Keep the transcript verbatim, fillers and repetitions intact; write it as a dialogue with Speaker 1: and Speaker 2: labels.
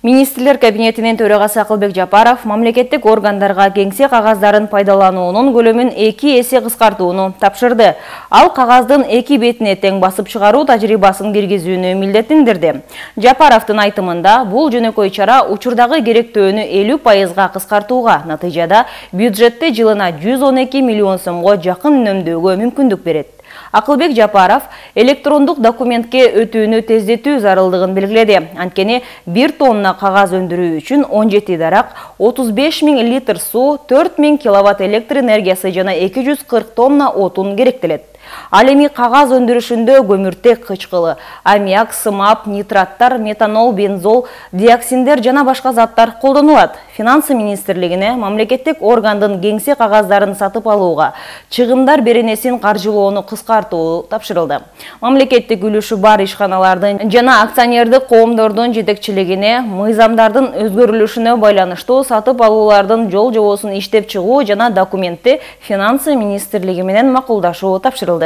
Speaker 1: Министрлер кабинетинин төрагасы Акылбек Жапаров мамлекеттик органдарга кеңсе кагаздарын пайдалануунун көлөмүн эки эсе кыскартууну тапшырды. Ал кагаздын эки бетине тең басып чыгаруу тажрыйбасын киргизүүнү милдеттендирди. Жапаровдун айтымында бул жөнөкөй чара учурдагы керектөөнү элүү пайызга кыскартууга, натыйжада бюджетте жылына жүз он эки миллион сомго жакын үнөмдөөгө мүмкүндүк берет. Акылбек Жапаров электрондук документке өтүүнү тездетүү зарылдыгын белгиледи. Анткени бир тонна кагаз өндүрүү үчүн он жети дарак, отуз беш миң литр суу, төрт миң киловатт электр энергиясы жана эки жүз кырк тонна отун керектелет. Ал эми кагаз өндүрүшүндө көмүртек кычкылы, аммиак, сымап, нитраттар, метанол, бензол, диоксиндер жана башка заттар колдонулат. Финансы министрлигине мамлекеттик органдын кеңсе кагаздарын сатып алууга, чыгымдар беренесин каржылоону кыскартуу тапшырылды. Мамлекеттик үлүшү бар ишканалардын жана акционердик коомдордун жетекчилигине мыйзамдардын өзгөрүлүшүнө байланыштуу сатып алуулардын жол жобосун иштеп чыгуу жана документти Финансы министрлиги менен макулдашуу тапшырылды.